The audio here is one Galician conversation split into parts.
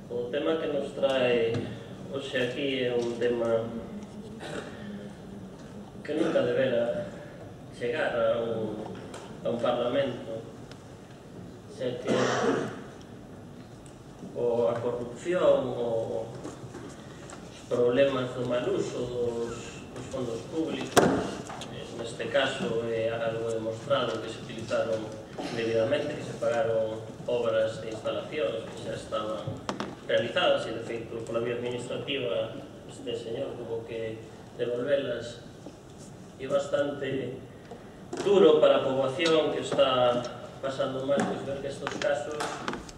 O tema que nos trae hoxe aquí é un tema que nunca debera chegar a un parlamento, xa que a corrupción, os problemas do mal uso dos fondos públicos, neste caso é algo demostrado que se utilizaron debidamente, que se pagaron obras de instalacións que xa estaban realizadas e, de feito, pola vía administrativa este señor tuvo que devolvelas. E bastante duro para a poboación que está pasando mal ver que estes casos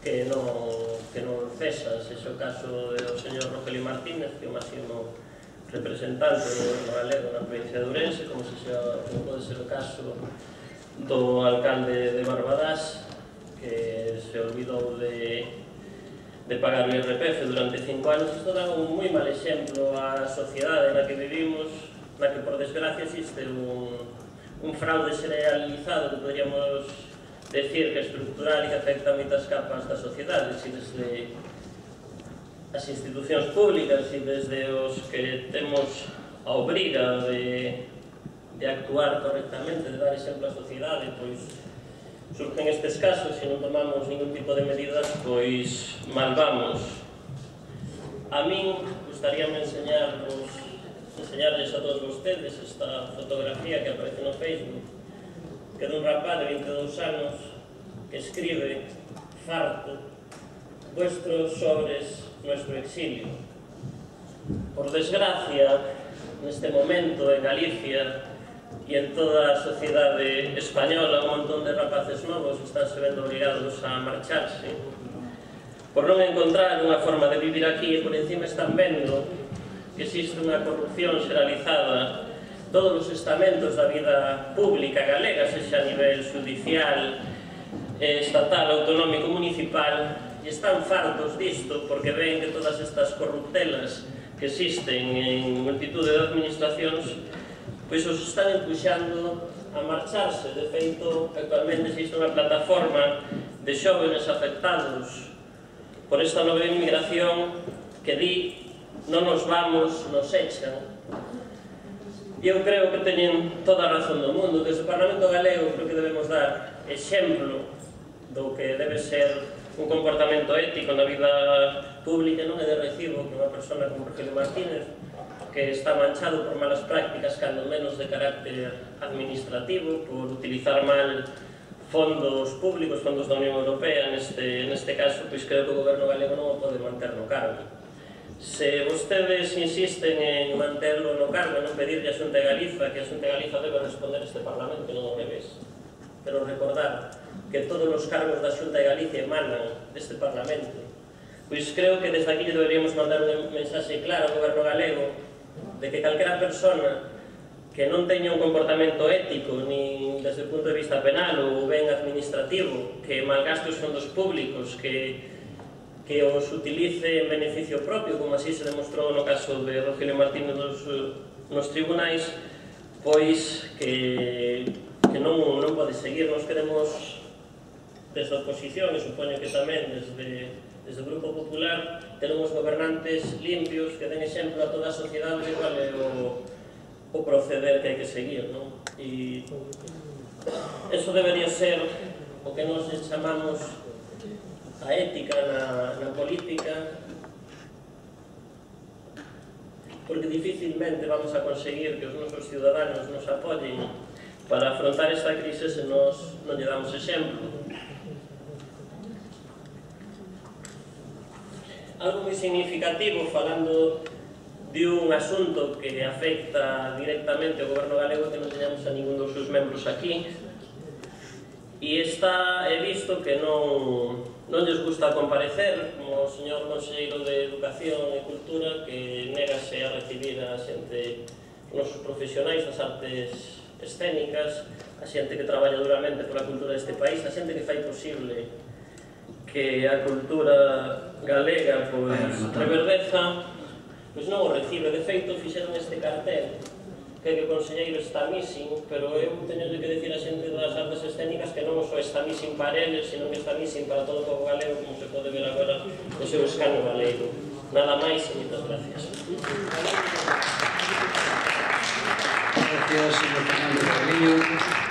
que non cesan, se é o caso do señor Rogelio Martínez, que é o máximo representante do goberno galego na provincia de Ourense, como pode ser o caso do alcalde de Barbadás, que se olvidou de pagar o IRPF durante 5 anos. Isto dá un moi mal exemplo á sociedade na que vivimos, na que, por desgracia, existe un fraude generalizado que poderíamos decir que é estructural e que afecta a moitas capas da sociedade, e desde as institucións públicas e desde os que temos a obriga de actuar correctamente, de dar exemplo á sociedade, pois surgen estes casos e non tomamos ningún tipo de medidas, pois mal vamos. A min gustaríame enseñarles a todos vostedes esta fotografía que aparece no Facebook, que é dun rapaz de 22 anos que escribe: farto, vuestros sobres, nuestro exilio. Por desgracia, neste momento en Galicia e en toda a sociedade española, un montón de rapaces novos están se vendo obrigados a marcharse por non encontrar unha forma de vivir aquí, e por encima están vendo que existe unha corrupción xeralizada todos os estamentos da vida pública galega, sexa a nivel judicial, estatal, autonómico, municipal, e están fartos disto porque ven que todas estas corruptelas que existen en multitude de administracións pois os están empuxando a marcharse. De feito, actualmente existe unha plataforma de xóvenes afectados por esta nova inmigración que di: non nos vamos, nos echan. E eu creo que teñen toda a razón do mundo. Desde o Parlamento Galego creo que debemos dar exemplo do que debe ser un comportamento ético na vida pública. Non é de recibo que unha persona como Rogelio Martínez, que está manchado por malas prácticas, cando menos de carácter administrativo, por utilizar mal fondos públicos, fondos da Unión Europea, neste caso, pois creo que o goberno galego non o pode manter no cargo. Se vostedes insisten en manterlo no cargo e non pedirle a Xunta de Galiza, que a Xunta de Galiza debe responder este Parlamento e non ao revés, pero recordar que todos os cargos da Xunta de Galicia emanan deste Parlamento, pois creo que desde aquí deberíamos mandar un mensaxe claro ao goberno galego de que calquera persona que non teña un comportamento ético, nin desde o punto de vista penal ou ben administrativo, que malgaste os fondos públicos, que os utilice en beneficio propio, como así se demostrou no caso de Rogelio Martínez nos tribunais, pois que non pode seguir. Nos queremos, desde a oposición, e supoño que tamén desde o Grupo Popular, ter uns gobernantes limpios que den exemplo a toda a sociedade de cual é o proceder que hai que seguir, non? E eso debería ser o que nos chamamos a ética na política, porque dificilmente vamos a conseguir que os nosos ciudadanos nos apoyen para afrontar esta crise se nos non lle damos exemplo. Algo moi significativo, falando de un asunto que afecta directamente ao goberno galego, que non teñamos a ningún dos seus membros aquí, e he visto que non lles gusta comparecer, como o señor conselleiro de Educación e Cultura, que negase a recibir a xente, os nosos profesionais das artes escénicas, a xente que traballa duramente pola cultura deste país, a xente que fai posible que a cultura galega reverdeza, pois non o recibe. De feito, fixeron este cartel que o conselleiro está missing, pero eu teño que dicir a xente das artes escénicas que non só está missing para eles, sino que está missing para todo o povo galego, como se pode ver agora no seu escano galego. Nada máis e moitas gracias. Gracias, señor Fernández Carrillo.